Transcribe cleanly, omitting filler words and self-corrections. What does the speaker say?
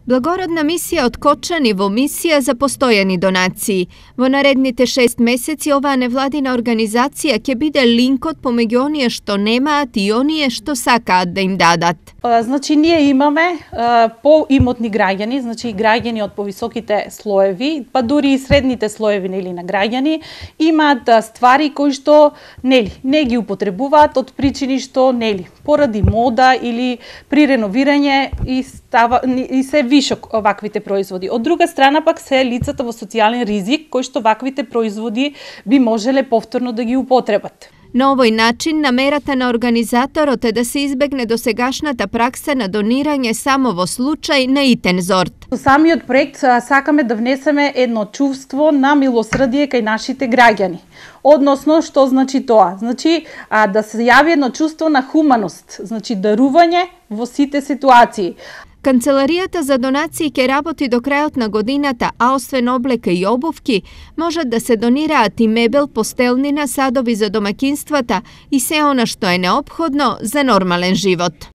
Благородна мисија од Кочани во мисија за постојани донации. Во наредните 6 месеци оваа невладина организација ќе биде линкот помеѓу оние што немаат и оние што сакаат да им дадат. Значи, ние имаме поимотни граѓани, значи граѓани од повисоките слоеви, па дури и средните слоеви на граѓани, имаат ствари кои што не ги употребуваат од причини што поради мода или при реновирање и се вишок ваквите производи. Од друга страна пак се лицата во социјален ризик кои што ваквите производи би можеле повторно да ги употребат. На овој начин, намерата на организаторот е да се избегне досегашната пракса на донирање само во случај на итен зорт. Со самиот проект сакаме да внесеме едно чувство на милосрдие кај нашите граѓани. Односно, што значи тоа? Значи, да се јави едно чувство на хуманост, значи дарување во сите ситуации. Канцеларијата за донации ќе работи до крајот на годината, а освен облека и обувки, можат да се донираат и мебел, постелнина, садови за домаќинствата и се она што е неопходно за нормален живот.